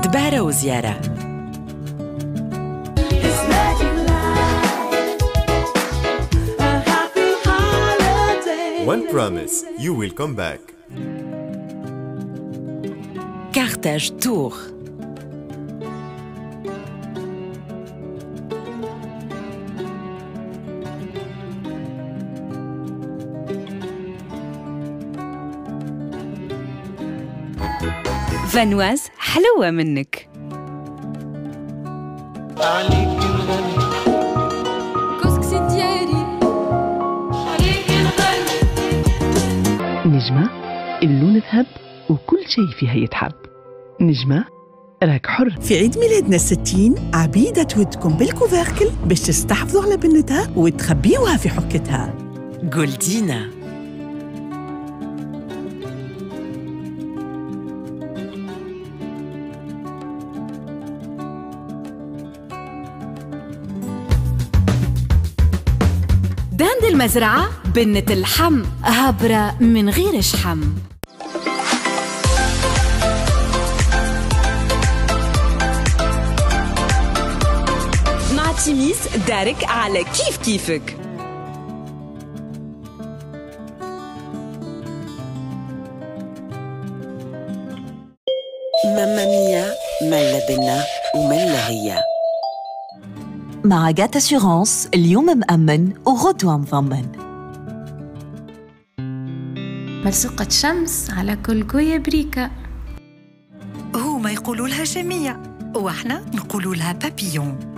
دبارة وزيارة. One promise, you will come back. Carthage Tour. فانواز حلوة منك. عليك نغني كسكسي ديالي، عليك نغني. نجمة اللون ذهب وكل شيء فيها يتحب. نجمة راك حر. في عيد ميلادنا 60 عبيدة تودكم بال couvercle باش تستحفظوا على بنتها وتخبيوها في حكتها. جولدينا. داند المزرعة بنة اللحم هبرة من غير شحم. مع تيميس دارك على كيف كيفك. ماما ميا ملا بنا وملا هي. مع GAT Assurances اليوم مأمن وغدوة مضمن. ملصوقة شمس على كل قوية بريكة. هما يقولوا لها شمية وإحنا نقولوا لها بابيون.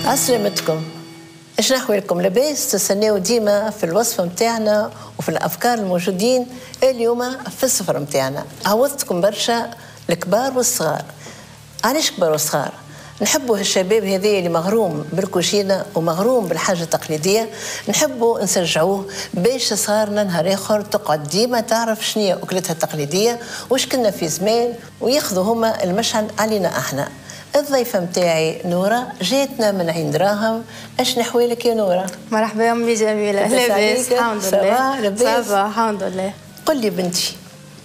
عسلامتكم، اش نحوالكم؟ لاباس؟ تستناو ديما في الوصفة متاعنا وفي الافكار الموجودين اليوم في السفر متاعنا. عوضتكم برشا الكبار والصغار. علاش كبار وصغار؟ نحبوا الشباب هذا اللي مغروم بالكوشينة ومغروم بالحاجة التقليدية، نحبوا نشجعوه باش صغارنا نهار آخر تقعد ديما تعرف شنو هي أكلتها التقليدية واش كنا في زمان، وياخذوا هما المشعل علينا احنا. الضيفة متاعي نورة جاتنا من عين دراهم. اش نحوالك يا نورة؟ مرحبا يا أمي جميلة. لاباس الحمد لله. لاباس الحمد لله. قل لي بنتي،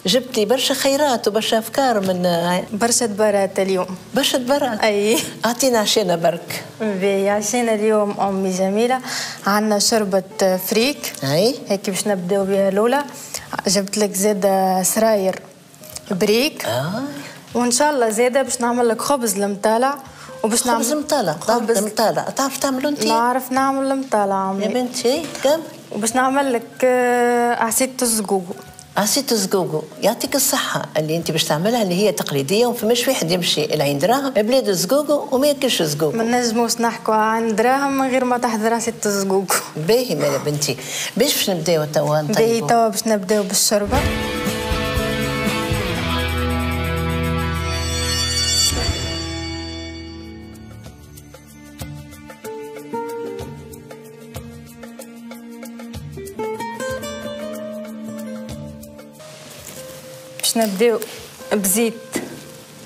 جبتي برشا خيرات وبرشا افكار من برشا دبرات اليوم. برشا دبرات؟ اي. اعطينا عشانا برك. باهي، عشانا اليوم امي جميلة عندنا شربة فريك. اي. هيك باش نبداو بها الاولى. جبت لك زاده سراير بريك. وان شاء الله زاده باش نعمل لك خبز المطالع. وباش نعمل خبز المطالع. خبز المطالع تعرف تعملوا انت؟ نعرف نعمل المطالع عمي يا بنتي. كم؟ وباش نعمل لك عصيدة الزقوقو. عصيدة الزقوقو يعطيك الصحة اللي أنت باش تعملها، اللي هي تقليدية وما فماش واحد يمشي لعين دراهم بلاد الزقوقو وما ياكلش الزقوقو. ما نجموش نحكوا عن دراهم من غير ما تحضر عصيدة الزقوقو. باهي مالا بنتي، باش نبداو توا نطيبو؟ باهي توا باش نبداو بالشربة. باش نبداو بزيت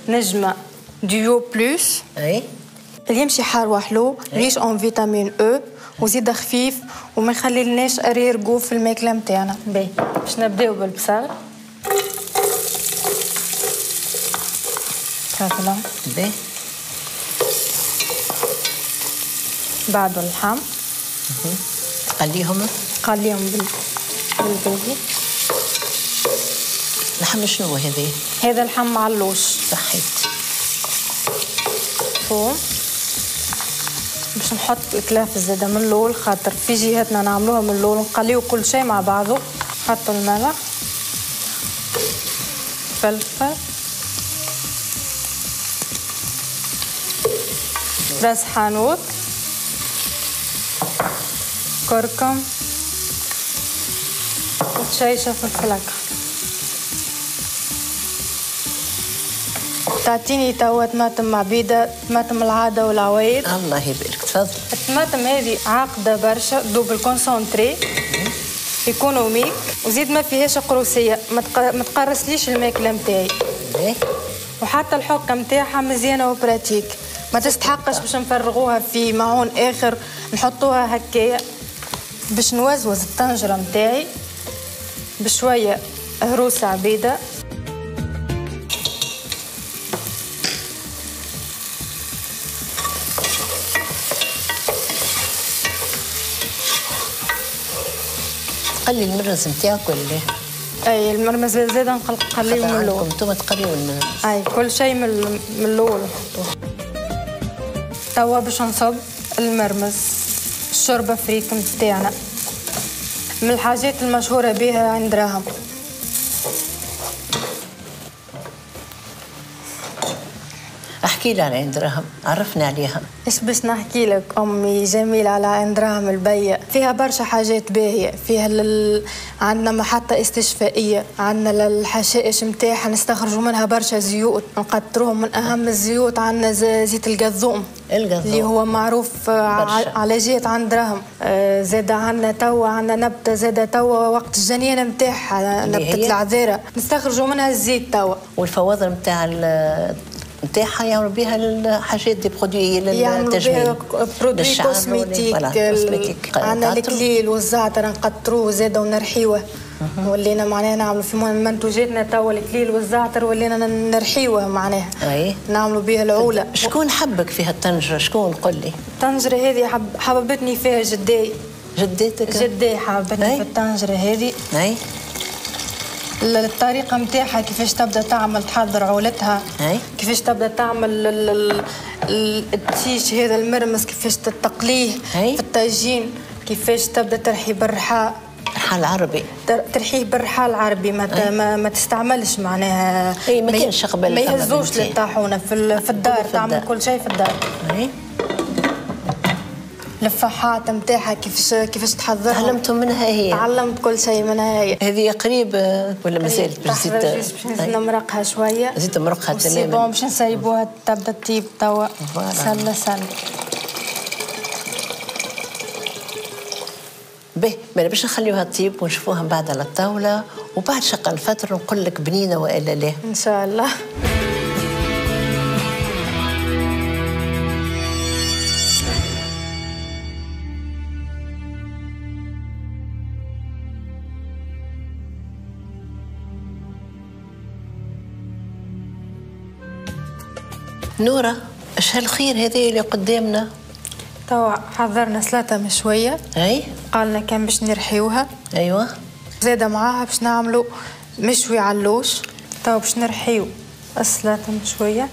نجمة Duo Plus. اي. اللي يمشي حار وحلو، riche en vitamine E، وزيد خفيف وما يخليلناش arrière-goût في الماكلة نتاعنا. باهي، باش نبداو بالبصل. تفضل. باهي. بعده اللحم. تقليهم؟ قليهم بالباهي. لحم شنو هذا؟ هذا لحم معلوش. صحيت. ثوم. باش نحط الكلافز زاده من الاول، خاطر في جهتنا نعملوها من الاول، نقليو كل شيء مع بعضه. نحطوا الملح، فلفل، راس حانوت، كركم، وتشيشه فلفل اكحل. تعطيني توا طماطم عبيده، طماطم العادة والعوايد. الله يبارك. تفضل. الطماطم هذه عاقده برشا، double concentré، économique، وزيد ما فيهاش قروسيه، ما تقرصليش الماكلة نتاعي. وحتى الحكة نتاعها مزيانه و pratique، ما تستحقش باش نفرغوها في معون اخر، نحطوها هكايا. باش نوزوز الطنجره نتاعي بشوية هروسه عبيده. تقلي المرز نتاعك ولا لا؟ اي المرمز زاد نقليه من الاول. انتم تقليو المرمز؟ اي كل شيء من الاول. توا باش نصب المرمز، الشوربة فريك نتاعنا من الحاجات المشهورة بها عند دراهم. احكي لي على عين دراهم، عرفنا عليها. ايش باش نحكي لك امي جميلة على عين دراهم البية؟ فيها برشا حاجات باهيه، فيها عندنا محطة استشفائيه، عندنا الحشائش نتاعها نستخرجوا منها برشا زيوت، نقطروهم. من اهم الزيوت عندنا زيت القذوم اللي هو معروف على جهة عين دراهم. زاد عندنا توا عندنا نبته زاد توا وقت الجنينة نتاعها، نبته العذيره، نستخرجوا منها الزيت توا. والفواضل نتاع نتاعها يعملوا بها الحاجات des produits للتجميل، produits cosmétiques. عندنا الكليل والزعتر نقطروه زاده ونرحيوه. ولينا معناها نعملوا في منتوجاتنا توا الكليل والزعتر ولينا نرحيوه معناها. اي نعملوا بها العوله. شكون حبك في هالطنجره؟ شكون قل لي؟ الطنجره هذه حببتني فيها جداي. جداتك؟ جداي حببتني في الطنجره هذه. اي الطريقة نتاعها كيفاش تبدا تعمل تحضر عولتها، كيفاش تبدا تعمل التيش هذا المرمس، كيفاش تقليه في الطاجين، كيفاش تبدا ترحي بالرحى. الرحى العربي. ترحيه بالرحى العربي، ما تستعملش معناها. اي ما كانش قبل، ما يهزوش للطاحونه في الدار، تعمل كل شيء في الدار. الفحات نتاعها كيفاش تحضرها. تعلمتهم منها هي؟ تعلمت كل شيء منها هي. هذه قريب ولا مازالت باش تزيد؟ باش نزيد نمرقها شوية. زيد تمرقها تماما. c'est bon باش نسيبوها تبدا تطيب توا. سله سله. باهي، باش نخليوها تطيب ونشوفوها من بعد على الطاولة، وبعد شق الفترة نقول لك بنينه والا لا. ان شاء الله. نورة، اش هالخير هذا اللي قدامنا؟ توا حضرنا سلطة مشوية. اي قالنا كان باش نرحيوها. ايوه زاده معاها باش نعملوا مشوي علوش. توا باش نرحيو السلطة مشوية.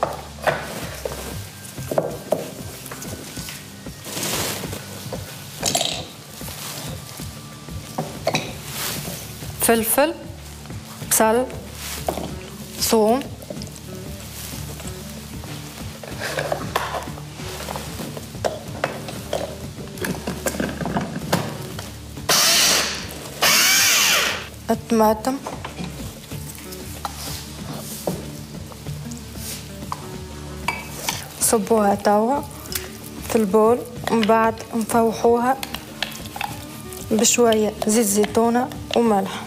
فلفل، بصل، ثوم، الطماطم، صبوها توا في ال bol، ومن بعد نفوحوها بشوية زيت زيتونة وملح.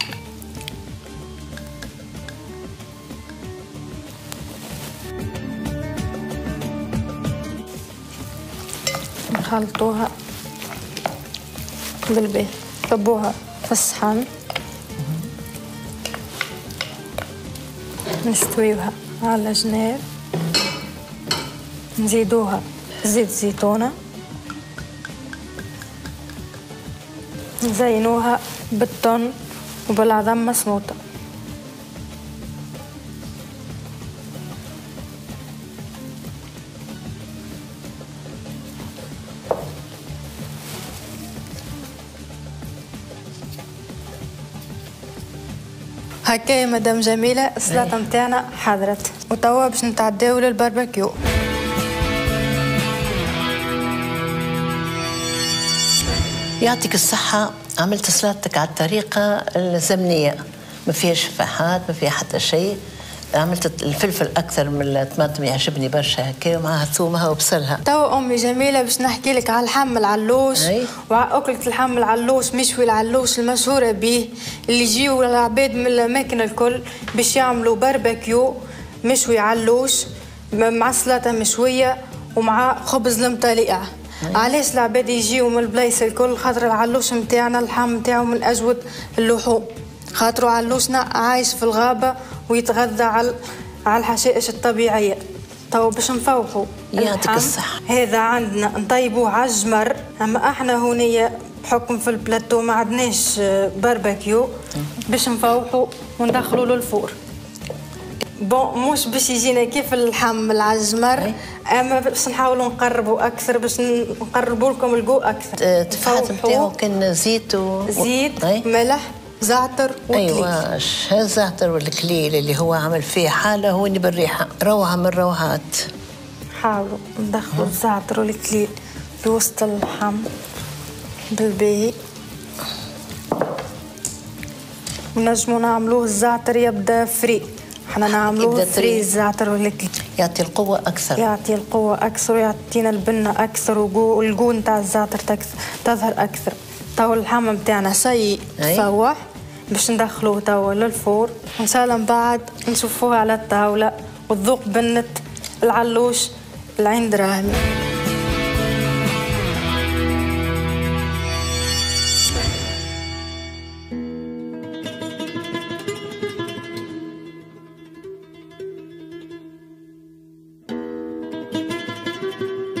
نخلطوها بالباهي، صبوها في الصحن، نستويوها على جناب، نزيدوها زيت زيتونة، نزينوها بالطن وبالعظم مسموطة. هكا يا مدام جميلة السلطة نتاعنا حضرت، وتوا باش نتعداو للباربيكيو. يعطيك الصحة، عملت سلطتك على الطريقة الزمنية، ما فيهاش فحات، ما فيها حتى شيء. عملت الفلفل أكثر من الطماطم، يعجبني برشا هكا، ومعها ثومها وبصلها. توا أمي جميلة باش نحكي لك على اللحم العلوش وعلى أكلة اللحم العلوش، مشوي العلوش المشهورة به، اللي يجيو العباد من الأماكن الكل باش يعملوا باربيكيو مشوي علوش مع سلطة مشوية ومع خبز المطليقة. علاش العباد يجيو من البلايص الكل؟ خاطر العلوش نتاعنا اللحم نتاعو من أجود اللحوم، خاطرو علوشنا عايش في الغابة ويتغذى على الحشائش الطبيعية. تو باش نفوحوا يعطيك الصحة. هذا عندنا نطيبوه على الجمر، اما احنا هونية بحكم في البلاتو ما عندناش باربيكيو، باش نفوحوا وندخلوا له ال four. bon مش باش يجينا كيف اللحم على الجمر، اما باش نحاولوا نقربوا اكثر، باش نقربوا لكم ال goût اكثر. التفاحات نتاعو كان زيت زيت، ملح، زعتر وكليل. ايوا الزعتر والكليل اللي هو عمل فيه حاله هو اللي بالريحه، روعه من الروعات. حاولوا ندخلوا الزعتر والكليل في وسط اللحم بالباهي. ونجموا نعملوه الزعتر يبدا frais، احنا نعملوه frais الزعتر والكليل، يعطي القوة أكثر، يعطي القوة أكثر ويعطينا البنة أكثر، وال goût نتاع الزعتر تظهر أكثر. تو اللحم نتاعنا ça y est فوح، باش ندخلوه توا لل four، وان شاء الله من بعد نشوفوه على الطاولة وتذوق بنة العلوش العين دراهمي.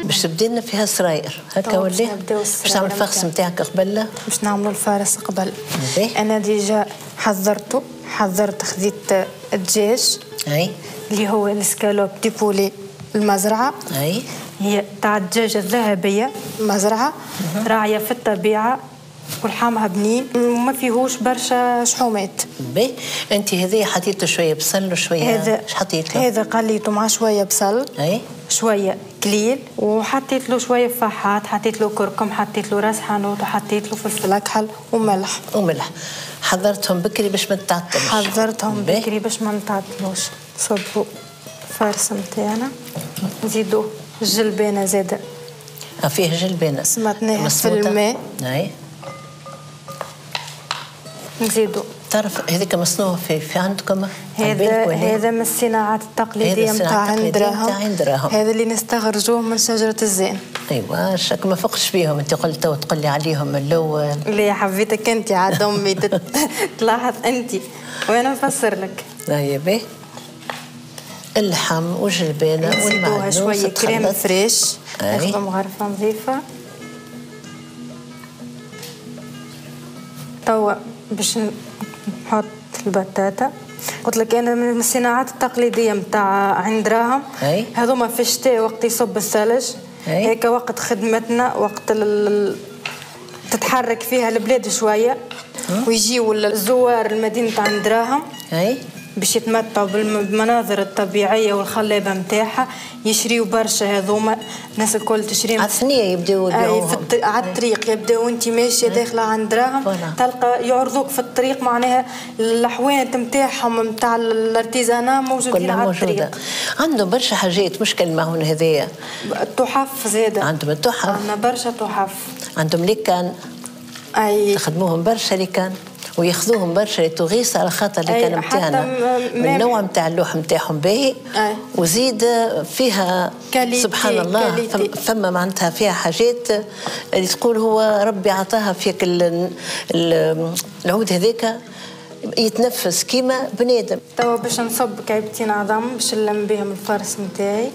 باش تبدي لنا فيها سراير هكا ولا باش تعمل ال farce نتاعك قبل؟ باش نعملوا ال farce قبل. انا déjà حضرته، حضرت خذيت الدجاج اي اللي هو ال escalope de poulet المزرعة، اي هي تاع الدجاجة الذهبية المزرعة، راعيه في الطبيعة ولحمها بنين وما فيهوش برشا شحومات. باهي، انت هذه حطيته شوية بصل وشوية اش حطيت له؟ هذا قليته مع شوية بصل، اي شوية كليل، وحطيت له شوية فحات، حطيت له كركم، حطيت له راس حانوت، وحطيت له فلفل اكحل وملح. وملح. حضرتهم بكري باش ما تتعطلوش. حضرتهم بكري باش ما نتعطلوش. صبوا ال farce نتاعنا، نزيدو الجلبانه زاده. فيه جلبانه سمطناها في الماء. اي نزيدو. تعرف هذيك مصنوع في عندكم؟ هذا من الصناعات التقليدية نتاع عند دراهم. هذا اللي نستخرجوه من شجرة الزين. ايوا شك ما فقش بيهم انت، قلت وتقول لي عليهم من الاول. اللي حبيتك انت عاد امي تلاحظ انت وانا نفسر لك. لا باهي. اللحم والجلبانه والمعدنوس شوية crème fraîche، ناخذ مغرفه نظيفة. توا باش نحط البطاطا. قلت لك انا من الصناعات التقليدية نتاع عند دراهم. هذوما في الشتاء وقت يصب الثلج، هيك وقت خدمتنا، وقت تتحرك فيها البلاد شوية، ويجيو الزوار لمدينة عند دراهم باش يتمتعوا بالمناظر الطبيعية والخلابه نتاعها. يشريوا برشا هذوما، الناس الكل تشري. على الثنية يبداو يبيعوهم. على الطريق يبداو وانت ماشية داخله عند دراهم تلقى يعرضوك في الطريق، معناها الحوانت نتاعهم نتاع ال artisanat موجودين على الطريق. عندهم برشا حاجات، مش كان المعون هذايا. التحف زاده عندهم التحف. عندنا برشا تحف. عندهم les cannes. اي يخدموهم برشا les cannes وياخذوهم برشا les touristes على خاطر les cannes نتاعنا من النوع نتاع اللوح نتاعهم باهي، وزيد فيها سبحان الله فما معناتها فيها حاجات اللي تقول هو ربي عطاها فيك. العود هذاك يتنفس كيما بنادم. توا باش نصب كعبتين عظم باش نلم بهم ال farce نتاعي.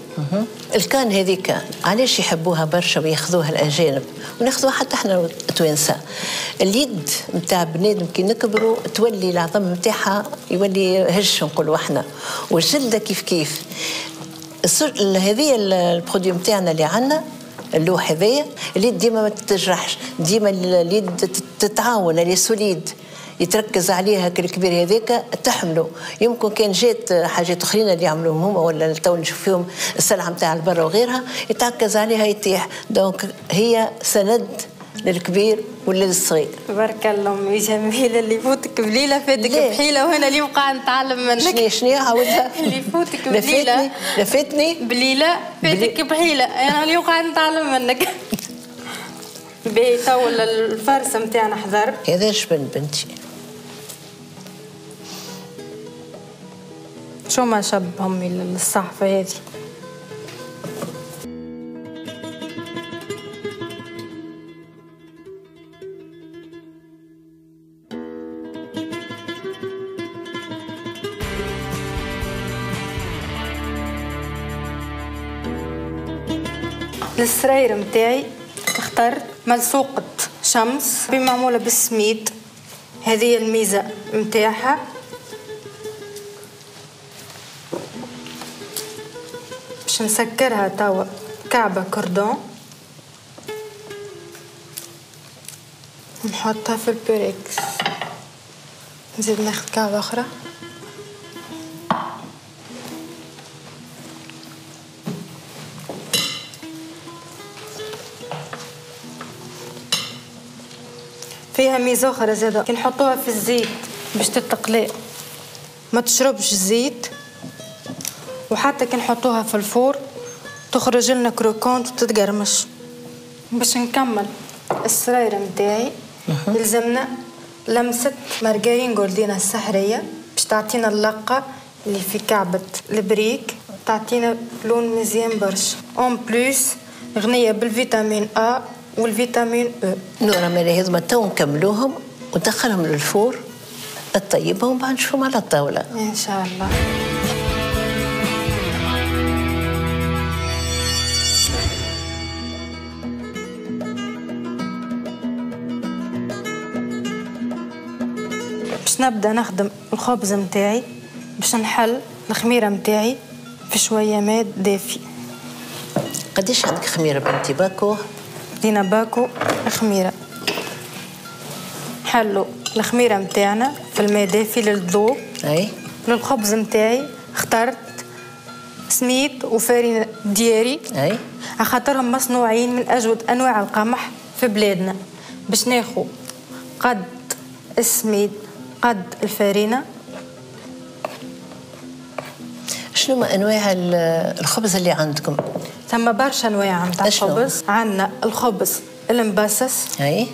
ال canne هذيك علاش يحبوها برشا وياخذوها الاجانب وناخذوها حتى احنا التوانسة؟ اليد نتاع بنادم كي نكبروا تولي العظم نتاعها يولي هش نقولوا احنا، والجلده كيف كيف. هذه ال produit نتاعنا اللي عندنا اللوح هذايا، اليد ديما ما تتجرحش، ديما اليد تتعاون، اللي solide يتركز عليها الكبير هذاك تحمله. يمكن كان جات حاجات اخرين اللي يعملوهم هما ولا تو نشوف فيهم السلعة نتاع البر وغيرها يتركز عليها يطيح. donc هي سند للكبير ولا للصغير. بارك الله امي جميلة، اللي يفوتك بليلة فاتك بحيلة، وانا اليوم قاعدة نتعلم منك. شنو عاودها؟ اللي يفوتك بليلة لفتني بليلة فاتك بحيلة، انا اليوم قاعدة نتعلم منك. باهي تو ال farce نتاعنا حضر. هذا جبن بنتي. شو ما شبهم الصحفة هذه. للسراير متاعي اخترت ملصوقة شمس بمعمولة بالسميد، هذه الميزة متاعها. باش نسكرها توا كعبة كردون، نحطها في البيركس، نزيد ناخذ كعبة أخرى. فيها ميزة أخرى زادة، كي نحطوها في الزيت باش تتقلي ما تشربش الزيت، وحتى كي نحطوها في ال four تخرج لنا croquante وتتقرمش. باش نكمل السراير نتاعي يلزمنا لمسة مارجرين جولدينا السحرية باش تعطينا اللقة اللي في كعبة البريك، تعطينا لون مزيان برشا. en plus غنية بال vitamine A وال vitamine E. نورا مالي هذوما تو نكملوهم وندخلهم لل four تطيبهم بعد نشوفهم على الطاولة إن شاء الله. باش نبدا نخدم الخبز نتاعي، باش نحل الخميره نتاعي في شوية ماء دافي. قداش عندك خميره بنتي؟ باكو؟ دينا باكو خميره. نحلو الخميره نتاعنا في الماء دافي للذوب. اي. للخبز نتاعي اخترت سميد وفارينة دياري. اي خاطرهم مصنوعين من اجود انواع القمح في بلادنا. باش ناخو قد السميد قد الفارينة. شنو ما انواع الخبز اللي عندكم؟ ثم برشا انواع نتاع الخبز. عندنا الخبز المبسس. اي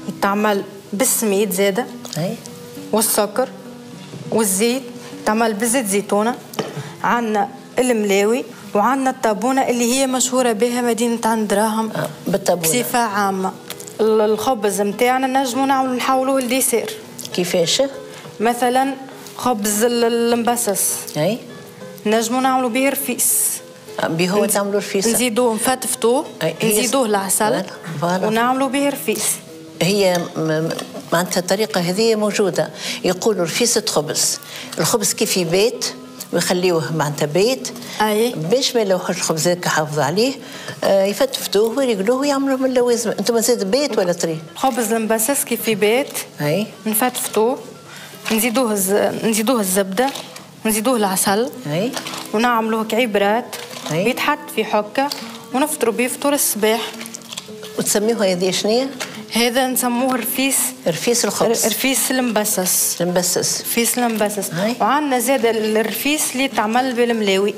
يتعمل بالسميد زاده. اي والسكر والزيت، تعمل بزيت زيتونه. عندنا الملاوي وعندنا الطابونه اللي هي مشهورة بها مدينة عين دراهم بالطابونه بصفة عامة. الخبز نتاعنا نجمو نعملو نحولوه ل dessert. كيفاش؟ مثلا خبز المبسس. اي نجمو نعملو به رفيس. به هو تعملو رفيس، نزيدوه نفتفتوه، نزيدوه العسل ونعملو به رفيس. هي معناتها الطريقة هذه موجودة، يقولوا رفيسة خبز، الخبز كيف يبات ويخليوه معناتها بيت. أي. باش ما يلوحوش الخبز هذاك يحافظوا عليه، يفتفتوه ويريقلوه ويعملوه من اللوازم. انتم زاد بيت ولا طري؟ خبز المبسس كيف يبات. أي. نفتفتوه، نزيدوه الزبدة، نزيدوه العسل. أي. ونعملوه كعبرات. أي. يتحط في حكة ونفطروا به فطور الصباح. وتسميوه هذه شنية؟ هذا نسموه رفيس. رفيس الخبز. رفيس المبسس. المبسس. رفيس المبسس. وعندنا زاد الرفيس اللي تعمل بالملاوي.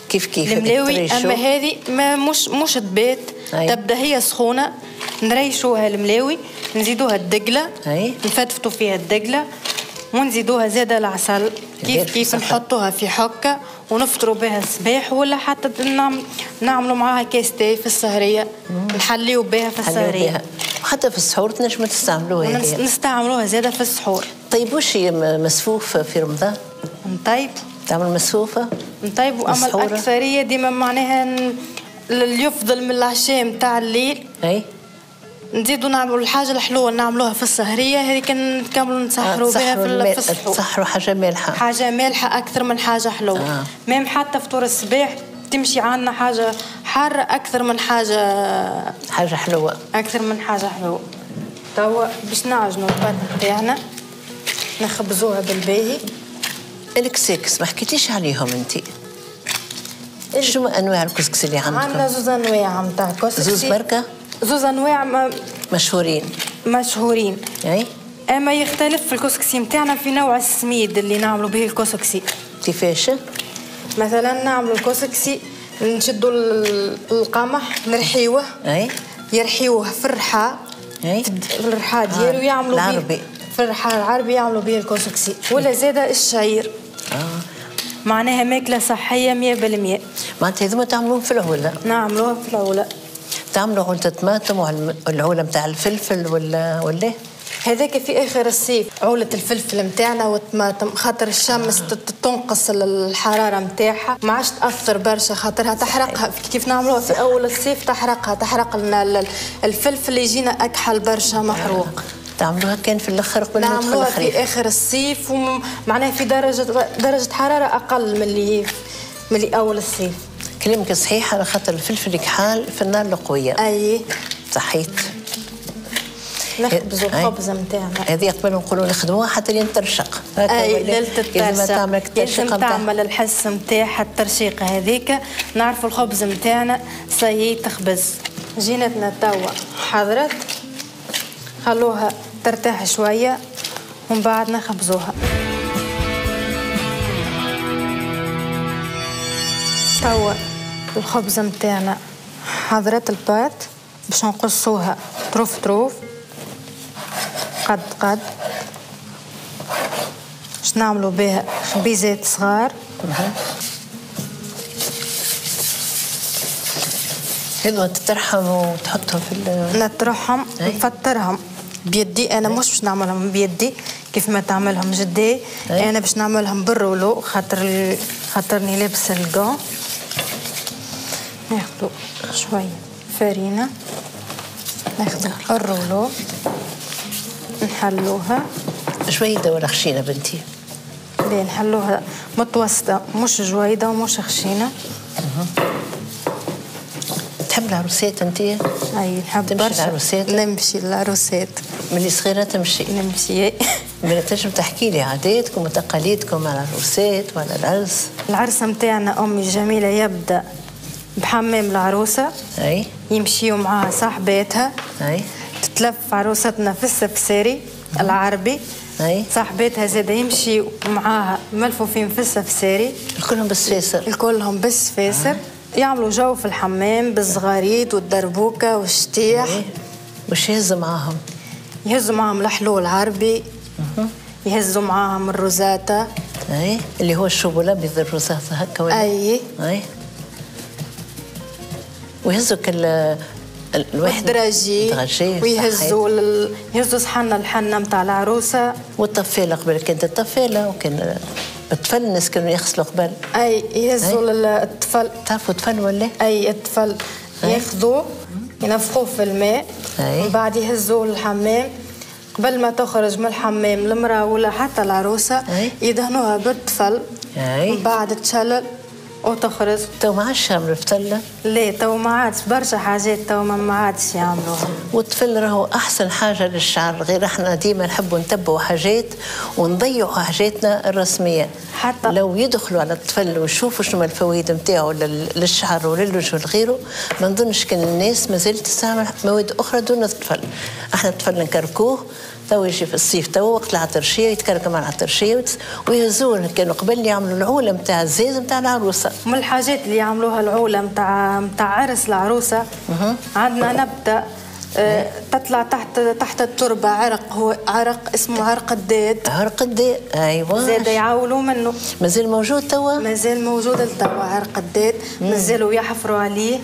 كيف كيف الملاوي، اما هذه ما مش تبات. تبدا هي سخونة، نريشوها الملاوي، نزيدوها الدقله. نفتفتوا فيها الدقله ونزيدوها زاده العسل. كيف كيف نحطوها في حكه ونفطروا بها الصباح، ولا حتى نعملوا معاها كاس تاي في السهريه، نحليو بها في السهريه. وحتى في السحور تنجموا تستعملوها. نستعملوها زاده في السحور. طيب وش هي مسفوف في رمضان؟ نطيب. تعمل مسفوفه؟ نطيب، واما الاكثرية ديما معناها اللي يفضل من العشاء نتاع الليل. اي نزيدوا نعملوا الحاجة الحلوة نعملوها في السهريه هذيك، نكملوا نسحروا بها في السحور. تسحروا حاجة مالحة. حاجة مالحة اكثر من حاجة حلوة. même حتى فطور الصباح تمشي عندنا حاجة حارة اكثر من حاجة حلوة. اكثر من حاجة حلوة. توا باش نعجنوا ال pâte نتاعنا نخبزوها بالباهي. الكسكس ما حكيتيش عليهم انت. شنو انواع الكسكس اللي عندكم؟ عندنا زوز انواع نتاع كسكسي. زوز بركة؟ زوز انواع مشهورين. مشهورين. اي اما يختلف في الكسكسي نتاعنا في نوع السميد اللي نعملوا به الكسكسي. كيفاش؟ مثلا نعملوا الكسكسي نشدوا القمح نرحيوه. اي يرحيوه في الرحى. اي في الرحى ديالو يعملوا به العربي. في الرحى العربي يعملوا به الكسكسي، ولا زاده الشعير. معناها ماكله صحية 100%. معناتها هذوما تعملوهم في العوله؟ نعملوها في العوله. تعملوا عولة الطماطم والعولة نتاع الفلفل ولا هذاك في اخر الصيف، عولة الفلفل نتاعنا والطماطم، خاطر الشمس تنقص الحرارة نتاعها، ما عادش تاثر برشا خاطرها تحرقها. كيف نعملوها في اول الصيف تحرقها، تحرق لنا الفلفل يجينا اكحل برشا محروق. تعملوها كان في الاخر قبل ما ندخل نعملوها الخريف. في اخر الصيف، ومعناها في درجة حرارة اقل من اللي اول الصيف. كلامك صحيح، على خاطر الفلفل كحال في النار القوية. أي صحيت. نخبزوا الخبز نتاعنا. هذه قبل نقولوا نخدموها حتى لين ترشق. أي ليلة الترشق. لازم تعمل الحس نتاعها الترشيقة هذيك، نعرفوا الخبز نتاعنا سي تخبز. جينتنا توا حضرت، خلوها ترتاح شوية ومن بعد نخبزوها. توا الخبز نتاعنا حضرت ال pâte باش نقصوها طروف طروف قد قد، باش نعملو بها خبيزات صغار. هذو تطرحهم وتحطهم في نطرحهم نفطرهم بيدي انا، مش باش نعملهم بيدي كيف ما تعملهم جدي. انا باش نعملهم بال rouleau خاطرني لابسه ال gants. ناخدو شوية فرينه، ناخدو ال rouleau نحلوها شوية ولا خشينه بنتي؟ لا نحلوها متوسطه، مش جويده ومش خشينه. تحب العروسات انت؟ اي نحب برشا العروسات. نمشي للعروسات ملي صغيرة تمشي؟ نمشي. من تنجم تحكي لي عاداتكم وتقاليدكم على العروسات وعلى العرس؟ العرس نتاعنا امي الجميلة يبدا بحمام العروسة. اي. يمشيو معاها صاحباتها. اي. تتلف عروستنا في السفساري العربي. اي. صاحباتها زاده يمشيو معاها ملفوفين في السفساري. الكلهم بالسفاسر. الكلهم بالسفاسر. يعملوا جو في الحمام بالزغاريد والدربوكه والشتيح. وش يهزوا معاهم؟ يهزوا معاهم الحلو العربي. يهزوا معاهم الروزاتا. اي اللي هو الشوب الابيض الروزاتا هكا ولا؟ اي. اي. ويهزوا كل الواحد الدراجي. ويهزوا يهزوا صحن الحنة نتاع العروسة. والطفاله قبل كانت الطفاله، وكان الطفل الناس كانوا يغسلوا قبل. اي يهزوا الطفل. تعرفوا الطفل ولا؟ اي الطفل ياخذوه ينفخوه في الماء. ومن بعد يهزوه للحمام. قبل ما تخرج من الحمام المرأة ولا حتى العروسة يدهنوها بالطفل. ومن بعد تشلل وتخرج. تو ما عادش يعملوا الفتلة؟ لا تو ما عادش، برشا حاجات تو ما عادش يعملوها. والطفل راهو أحسن حاجة للشعر، غير احنا ديما نحبوا نتبعوا حاجات ونضيعوا حاجاتنا الرسمية. حتى لو يدخلوا على الطفل ويشوفوا شنو الفوائد نتاعو للشعر وللوجه ولغيره، ما نظنش كان الناس مازالت تستعمل مواد أخرى دون الطفل. احنا الطفل نكركوه تو يجي في الصيف تو وقت العطرشيه يتكركم على العطرشيه ويهزوه. كانوا قبل يعملوا العوله نتاع الزاز نتاع العروسة. من الحاجات اللي يعملوها العوله نتاع عرس العروسة، عندنا نبته تطلع تحت التربة، عرق، هو عرق اسمه عرق الداد. عرق الداد ايوا. زاد يعاولوا منه. مازال موجود توا؟ مازال موجود لتوا عرق الداد، مازالوا يحفروا عليه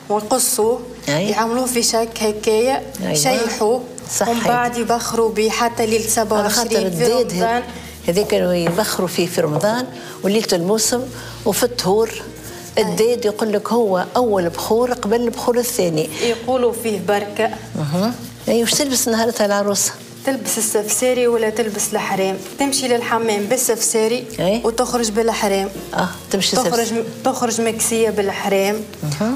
ويقصوه. يعملوه في شك هكايا. يشيحوه. ومن بعد يبخروا به حتى ليلة 27 في رمضان. هذاك كانوا يبخروا فيه في رمضان وليلة الموسم وفي الطهور. الداد يقول لك هو أول بخور قبل البخور الثاني. يقولوا فيه بركة. أي. وش تلبس نهارتها العروسة؟ تلبس السفساري ولا تلبس الحرام. تمشي للحمام بالسفساري. وتخرج بالحرام. تمشي تخرج مكسيه بالحرام.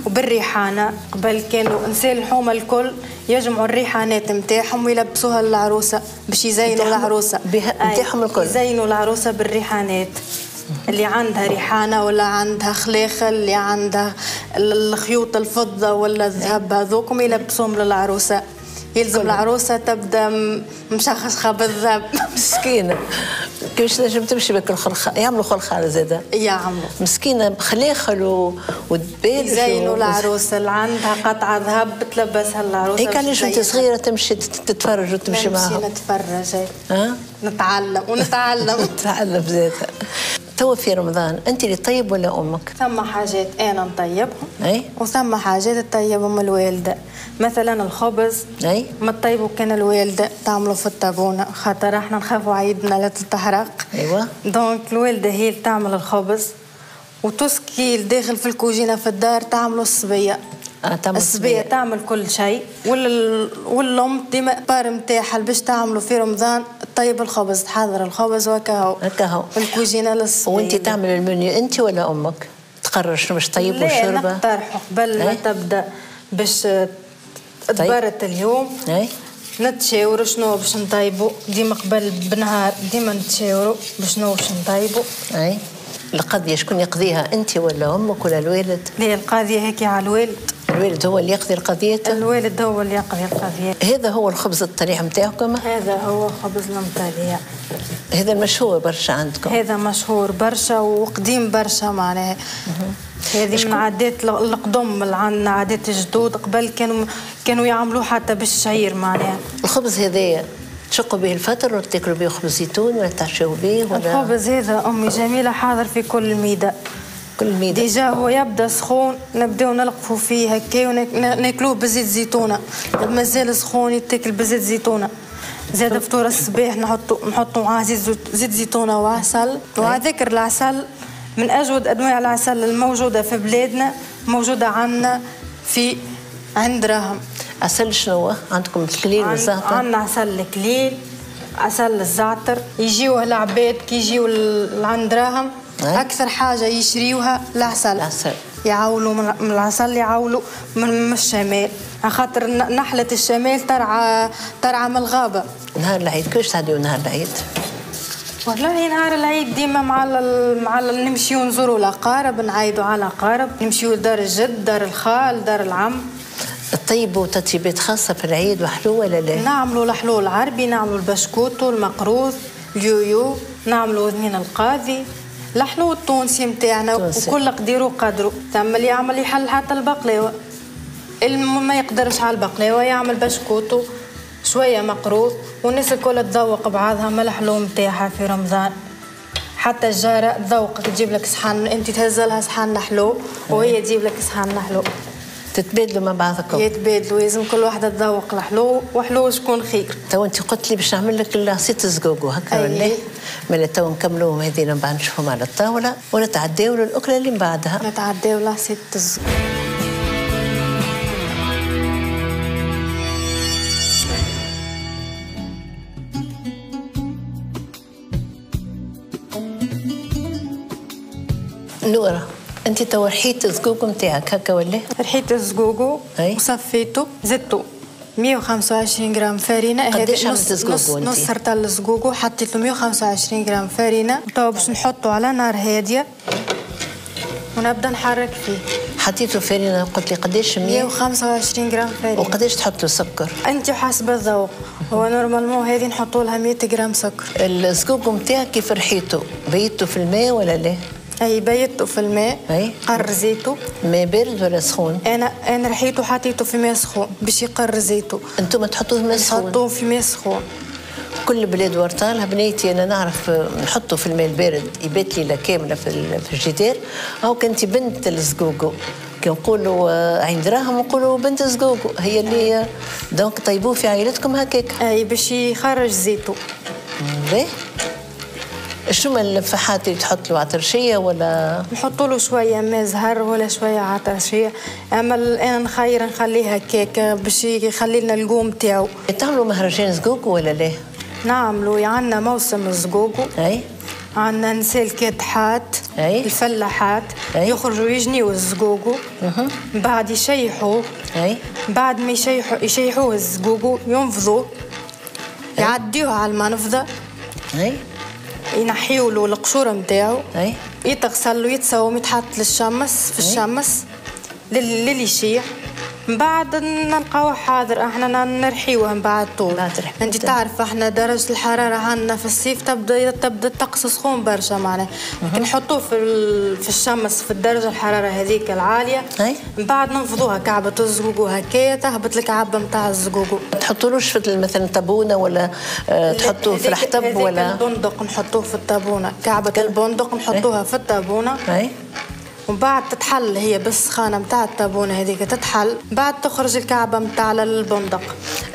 وبالريحانه. قبل كانوا نساء الحومه الكل يجمعوا الريحانات نتاعهم ويلبسوها للعروسه باش يزينوا العروسة. نتاعهم الكل يزينوا العروسة بالريحانات. اللي عندها ريحانة ولا عندها خلاخل، اللي عندها الخيوط الفضة ولا الذهب، هذوكم يلبسوهم للعروسه. يلزم العروسة تبدا مشخشخه بالذهب. مسكينه كيفاش تنجم تمشي بك الخلخال؟ يعملوا خلخال زاده. يعملوا. مسكينه بخلاخل ودبال. يزينوا العروسة اللي عندها قطعه ذهب تلبسها العروسة. هيك علاش انت صغيرة تمشي تتفرج وتمشي معاهم؟ نمشي نتفرج. نتعلم ونتعلم. نتعلم زاده. توا في رمضان انت اللي طيب ولا امك؟ ثم حاجات انا نطيبهم. اي. وثم حاجات تطيبهم الوالدة، مثلا الخبز. اي. ما تطيبوا كان الوالدة تعملوا في الطابونه، خاطر احنا نخافوا عيدنا لا تتحرق. ايوه. donc الوالدة هي اللي تعمل الخبز، وتسكي داخل في الكوجينه في الدار تعملوا الصبية. الصبية تعمل كل شيء، والام ديما part نتاعها باش تعملوا في رمضان طيب الخبز، تحضر الخبز وكاهو. هكاهو. الكوجينه للصبيه. وانت تعمل المنيو انت ولا امك؟ تقرر شنو باش طيب وشربه؟ لا نقترحوا قبل ما تبدا باش تبرت اليوم. نتشاوروا شنو باش نطيبوا، ديما قبل بنهار ديما نتشاوروا بشنو باش نطيبوا. اي. القضية شكون يقضيها، انت ولا امك ولا الوالد؟ لا القضية هيك على الوالد. الوالد هو اللي يقضي القضية؟ الوالد هو اللي يقضي القضية. هذا هو الخبز الطليع نتاعكم؟ هذا هو خبز المطليع. هذا المشهور برشا عندكم؟ هذا مشهور برشا وقديم برشا معناها. هذه من عادات القدم اللي عندنا، عادات الجدود قبل كانوا يعملوه حتى بالشعير معناها. الخبز هذايا تشقوا به الفطر ولا تاكلوا به خبز زيتون ولا تعشوا به ولا؟ الخبز هذا امي جميلة حاضر في كل ميده. كل ميده. déjà هو يبدا سخون نبداو نلقفوا فيه هكا وناكلوه بزيت زيتونه، مازال سخون يتاكل بزيت زيتونه. زاد فطور الصباح نحطوا معاه زيت زيتونه وعسل. وعلى ذكر العسل، من اجود انواع العسل الموجودة في بلادنا موجودة عندنا في عند راهم. عسل شنو عندكم؟ الكليل والزعتر؟ عندنا عسل الكليل، عسل الزعتر. يجيوه العباد كي يجيو لعند راهم اكثر حاجة يشريوها العسل. العسل. يعولوا من العسل، يعولوا من الشمال، خاطر نحلة الشمال ترعى من الغابة. نهار العيد كيفاش تعديو نهار العيد؟ والله نهار العيد ديما مع نمشيو نزوروا الأقارب، نعيدوا على الأقارب، نمشيو لدار الجد، دار الخال، دار العم. طيبوا تطيبات خاصة في العيد وحلو ولا لا؟ نعملوا الحلو العربي، نعملوا البشكوتو، المقروض، اليويو، نعملوا اذنين القاضي، الحلو التونسي نتاعنا، وكل قدير وقدره. ثم اللي يعمل يحل حتى البقلاوة، اللي ما يقدرش على البقلاوة يعمل بشكوتو، شوية مقروض، والناس الكل تذوق بعضها من الحلو نتاعها في رمضان. حتى الجارة تذوقك، تجيب لك صحن، انت تهز لها صحن حلو وهي تجيب لك صحن حلو. تتبادلوا مع بعضكم؟ يتبادلوا، لازم كل واحدة تذوق الحلو، وحلو شكون خير. تو انت قلت لي باش نعمل لك العصير الزقوقو هكا ولا؟ مالا تو نكملوهم هذين من بعد نشوفهم على الطاولة ونتعداو للأكلة اللي من بعدها. نتعداو لعصير الزقوقو. نورة، انت تو رحيت الزقوقو نتاعك هكا ولا؟ رحيت الزقوقو وصفيته، زدته 125 غرام فرينة. قداش عملت الزقوقو انت؟ نص رطل الزقوقو حطيت له 125 غرام فرينة. تو باش نحطه على نار هادية ونبدا نحرك فيه. حطيته فرينة قلت لي قداش؟ 125 غرام فرينة. وقداش تحط له سكر؟ انت حسب الذوق، هو normalement هذه نحطوا لها 100 غرام سكر. الزقوقو نتاعك كيف رحيته؟ بيته في الماء ولا لا؟ اي بيته في الماء. اي قر زيته. ماء بارد ولا سخون؟ انا رحيته حطيته في ماء سخون باش يقر زيته. انتم تحطوه في ماء سخون؟ نحطوه في ماء سخون. كل بلاد ورطالها بنيتي انا نعرف نحطه في الماء البارد يبات ليلة كاملة في الجدار. او كنتي بنت الزقوقو كي نقولوا عين دراهم نقولوا بنت الزقوقو هي اللي donc طيبوه في عائلتكم هكاك. اي باش يخرج زيته. باهي. شنو الفحات اللي تحط له؟ عطرشيه ولا؟ نحط له شوية ماء زهر ولا شوية عطرشيه، اما انا نخير نخليها هكاك باش يخلي لنا القوم تاعو. تعملوا مهرجان زقوقو ولا لا؟ نعملوا، عندنا موسم الزقوقو. اي عندنا نساء الكادحات، أي الفلاحات. أي يخرجوا يجنيوا الزقوقو، بعد يشيحوه. اي بعد ما يشيحوه الزقوقو ينفضوه، يعديوه على المنفضه. اي ينحيوا له القشور نتاعو. اي يتغسل ويتسوم، يتحط للشمس في الشمس للي يشيح. من بعد نلقاوه حاضر، احنا نرحيوه من بعد طول. انت تعرف احنا درجه الحرارة عندنا في الصيف تبدا الطقس سخون برشا معناها، نحطوه في الشمس في الدرجة الحرارة هذيك العالية. من بعد ننفضوها كعبه الزقوقو هكايا تهبط الكعبة نتاع الزقوقو. تحطولوش في مثلا طابونه ولا تحطوه في الحطب ولا؟ البندق نحطوه في الطابونه، كعبه البندق نحطوها في الطابونه. ومن بعد تتحل هي بالسخانه نتاع الطابونه هذيك تتحل، بعد تخرج الكعبة نتاع البندق.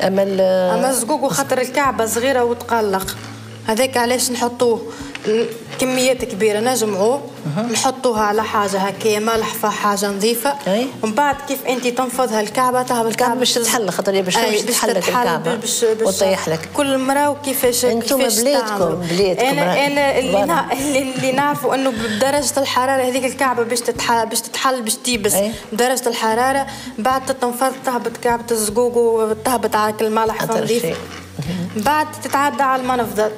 اما الزقوقو خاطر الكعبة صغيرة وتقلق، هذاك علاش نحطوه كميات كبيرة، نجمعوه نحطوها على حاجة هكايا ملحفه، حاجة نظيفة. ومن بعد كيف انت تنفضها الكعبة تهبط الكعبة باش تتحل، خاطر هي باش تتحل الكعبة وتطيح لك. كل مراة وكيفاش انتم بلادكم. انا اللي نعرفوا انه بدرجة الحرارة هذيك الكعبة باش تتحل باش تيبس. بدرجة الحرارة بعد تتنفض تهبط كعبه الزقوق وتهبط على الملحفه نظيفة. بعد تتعدى على المنفضه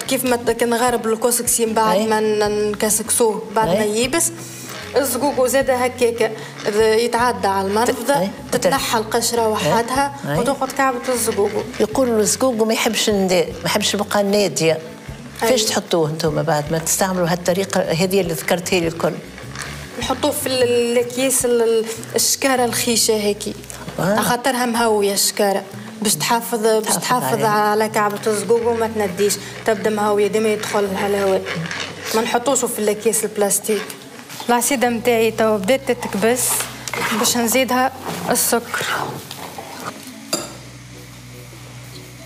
كيف ما كنغرب الكسكسي من بعد ما نكسكسوه بعد ما ييبس الزقوقو زاد هكاك يتعدى على المنفضه، تتنحى القشرة وحدها وتقعد كعبه الزقوقو. يقولوا الزقوقو ما يحبش ما يحبش البقعة الناديه. كيفاش تحطوه انتم بعد ما تستعملوا هالطريقة هذه اللي ذكرتها لي الكل؟ نحطوه في الاكياس الشكاره الخيشه هيك، خاطرها مهويه الشكاره باش تحافظ على كعبة الزقوق وما تنديش، تبدا مهوية ديما يدخل لها الهواء. ما نحطوش في الاكياس البلاستيك. العصيدة نتاعي توا بدات تتكبس باش نزيدها السكر.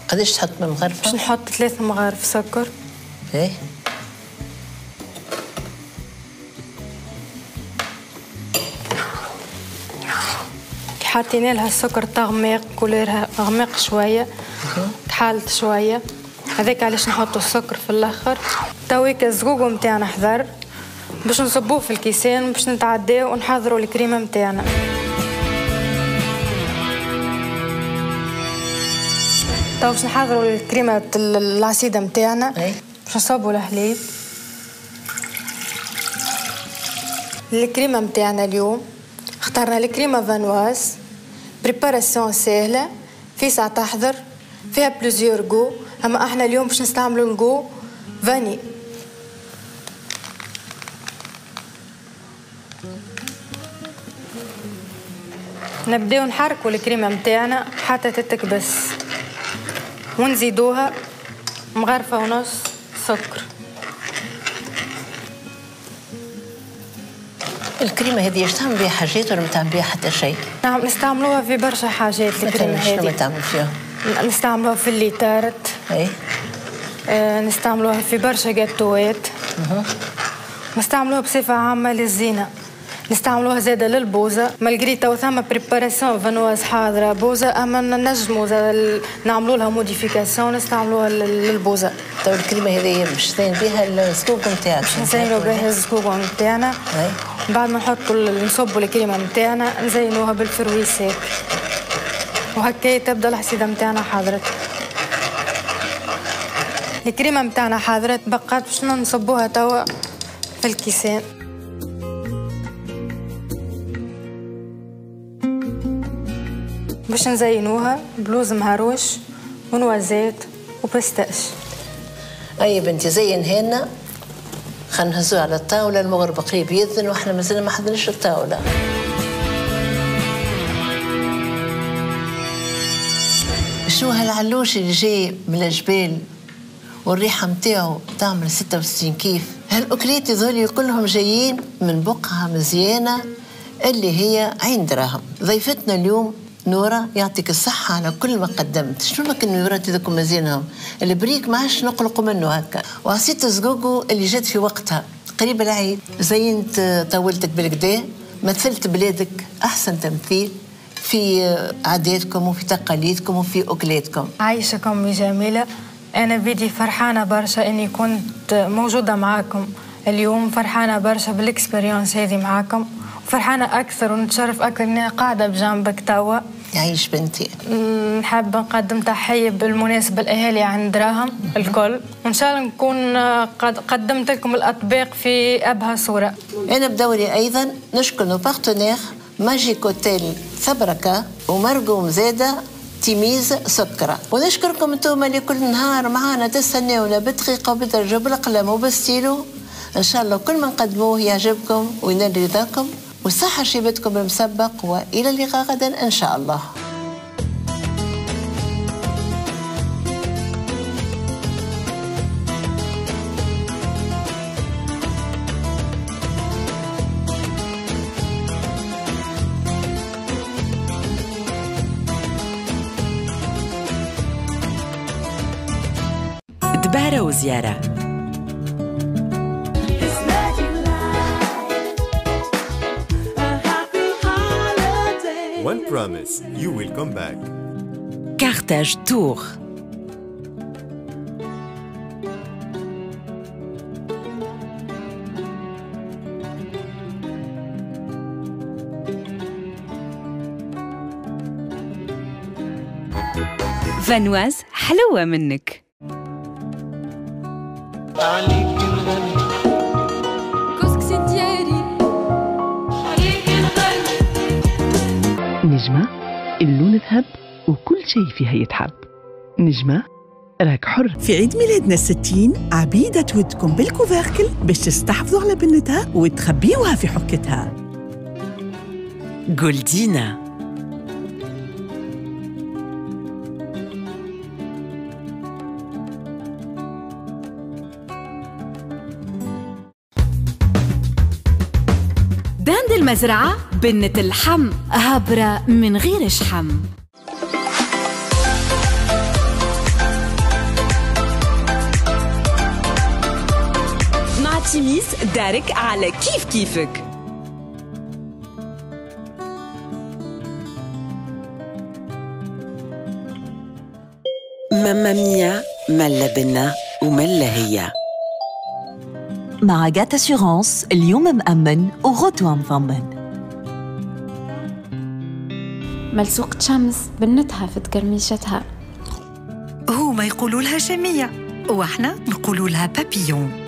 قداش تحط من مغرفة؟ باش نحط 3 مغارف سكر. ايه حطينا لها السكر تغميق، couleur ها غميق شوية، تحالت شوية، هذاك علاش نحطوا السكر في الاخر. تويك الزقوق نتاعنا حضر، باش نصبوه في الكيسان باش نتعداو ونحضروا الكريمة متاعنا. تو باش نحضروا الكريمة العصيده متاعنا. باش نصبوا الحليب. الكريمة متاعنا اليوم اخترنا الكريمة viennoise، préparation ساهله، في ساعة تحضر، فيها plusieurs goûts، اما احنا اليوم باش نستعملوا ال goût vanille. نبداو نحركوا الكريمة متاعنا حتى تتكبس، ونزيدوها مغرفه ونص سكر. الكريمة هذه ايش تعمل بها حاجات ولا ما تعمل بها حتى شيء؟ نعم نستعملوها في برشا حاجات الكريمة هذه. شنو تعمل فيها؟ نستعملوها في les tartes. اي نستعملوها في برشا جاتوات. نستعملوها بصفة عامة للزينة. نستعملوها زاده للبوزه، malgré تو ثما préparation viennoise حاضره بوزه، اما نجموا زاده نعملوا لها modification نستعملوها للبوزه. تو الكريمة هذه باش تزين بها الزقوق نتاعك. باش نزينوا بها الزقوق نتاعنا. بعد ما نحطوا نصبوا الكريمة نتاعنا نزينوها بال fruits secs، وهكا تبدا الحصيده نتاعنا حاضرت. الكريمة نتاعنا حاضرت، بقات باش نصبوها توا في الكيسان. باش نزينوها بلوز مهروش و noisettes و pistaches. اي بنتي زينها لنا، خلينا نهزوها على الطاولة، المغرب قريب يذن واحنا مازلنا ما حضرناش الطاولة. شو هالعلوش اللي جاي من الجبال والريحه نتاعو تعمل 66 كيف؟ هالاكلات هذول كلهم جايين من بقعة مزيانه اللي هي عين دراهم. ضيفتنا اليوم نورة، يعطيك الصحة على كل ما قدمت. شنو ما كان نورات هذوك مزيانهم، البريك ما عادش نقلقوا منه هكا، وعصيت الزقوقو اللي جات في وقتها قريب العيد، زينت طاولتك بالكدا، مثلت بلادك أحسن تمثيل في عاداتكم وفي تقاليدكم وفي أكلاتكم. عايشكم يا جميلة، أنا بيدي فرحانة برشا إني كنت موجودة معاكم اليوم، فرحانة برشا بال expérience هذه معاكم، فرحانة أكثر ونتشرف أكثر إني قاعدة بجنبك توا. يعيش بنتي. نحب نقدم تحية بالمناسبة الأهالي عند دراهم الكل، وإن شاء الله نكون قد قدمت لكم الأطباق في أبهى صورة. أنا بدوري أيضا نشكر nos partenaires Magic Hotel ثبركة ومرقوم زادة تيميز سكرة، ونشكركم انتم اللي كل نهار معانا تستناونا بدقيقة وبدرجة وبالقلم وبالستيلو. إن شاء الله كل ما نقدموه يعجبكم وينال رضاكم، وصحة شيبتكم بالمسبق، وإلى اللقاء غدا إن شاء الله. دبارة وزيارة. One promise, you will come back. Carthage Tour. Vanoise حلوة منك. عليك نغني كسكسي دياري، عليك نغني. نجمة اللون ذهب وكل شيء فيها يتحب. نجمة راك حر. في عيد ميلادنا 60 عبيدة تودكم بال couvercle باش تستحفظوا على بنتها وتخبيوها في حكتها. جولدينا. dinde المزرعة بنة اللحم، هبرة من غير شحم. مع تيميس دارك على كيف كيفك. ماما ميا ملا بنا وملا هي. مع GAT Assurances اليوم مأمن وغدوة مضمن. ملسوقة شمس بنتها في تكرميشتها. هما يقولوا لها شمية واحنا نقولوا لها بابيون.